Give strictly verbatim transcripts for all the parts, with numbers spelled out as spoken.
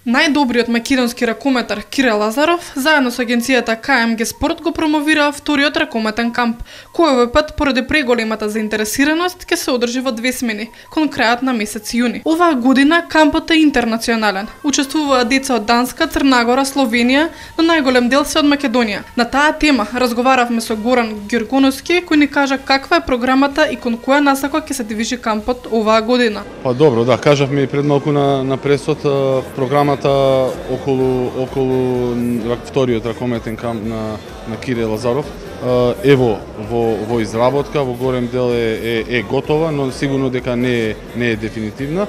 Најдобриот македонски ракометар Кире Лазаров заедно со агенцијата К М Г Спорт го промовираа вториот ракометен камп, кој овој пат поради преголемата заинтересираност ќе се одржи во две смени, кон крајот на месец јуни. Оваа година кампот е интернационален. Учествуваат деца од Данска, Црна Гора, Словенија, но најголем дел се од Македонија. На таа тема разговаравме со Горан Ѓоргоновски, кој ни кажа каква е програмата и кон која насока ќе се движи кампот оваа година. Па добро, да, кажавме и пред малку на на пресот програмата околу околу вториот ракометен камп на на Кире Лазаров. Ево во во изработка, во горем дел е е, е готова, но сигурно дека не е не е дефинитивна.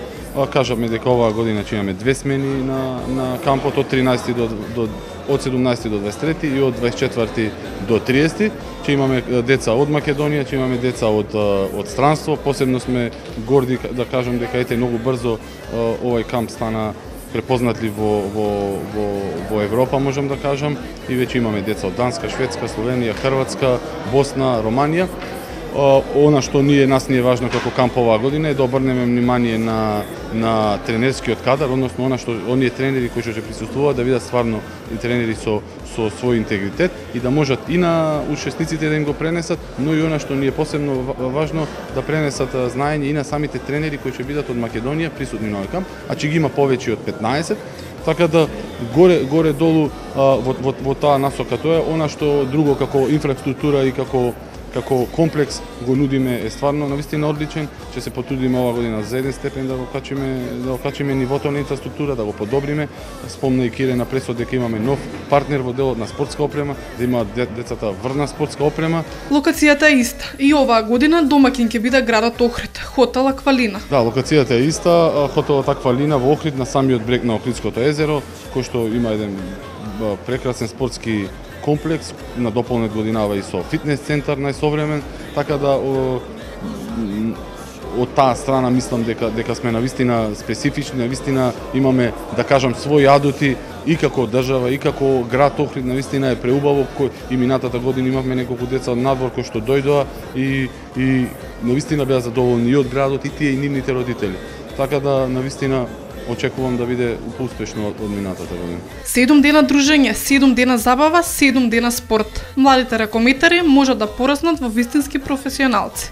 Кажавме дека оваа година ќе имаме две смени на на кампот од тринаесети до до од седумнаесети до дваесет и трети и од дваесет и четврти до триесети. Ќе имаме деца од Македонија, ќе имаме деца од од странство. Посебно сме горди да кажам дека ете многу брзо овој камп стана препознатлив во во во во Европа, можам да кажам, и веќе имаме деца од Данска, Шведска, Словенија, Хрватска, Босна, Романија. Она што ние нас ни е важно како камп оваа година е да обрнеме внимание на на тренерскиот кадар, односно она што оние тренери кои што ќе присуствуваат да видат стварно и тренери со со свој интегритет и да можат и на учесниците да им го пренесат, но и она што ни е посебно важно да пренесат знаење и на самите тренери кои ќе бидат од Македонија присутни на овој камп, а ќе ги има повеќе од петнаесет. Така да горе горе долу во во во таа насока тоа е она што друго како инфраструктура и како како комплекс го нудиме е стварно навистина одличен. Ќе се потрудиме оваа година за еден степен да го качиме да го качиме нивото на инфраструктура, да го подобриме. Спомна и Кире на пресот дека имаме нов партнер во делот на спортска опрема, да имаат децата врна спортска опрема. Локацијата е иста. И оваа година домакин ќе биде градот Охрид, хотел Аквалина. Да, локацијата е иста, хотелот Аквалина во Охрид на самиот брег на Охридското езеро, кој што има еден прекрасен спортски комплекс, надополнет годинава и со фитнес центар најсовремен, така да о, од таа страна мислам дека дека сме навистина специфични, навистина имаме да кажам своји адути и како држава и како град Охрид, навистина е преубаво, кој и минатата година имавме неколку деца од надвор кои што дојдоа и и навистина беа задоволни и од градот и тие и нивните родители. Така да навистина очекувам да биде успешно од минатата година. Седум дена дружење, седум дена забава, седум дена спорт. Младите ракометари можат да пораснат во вистински професионалци.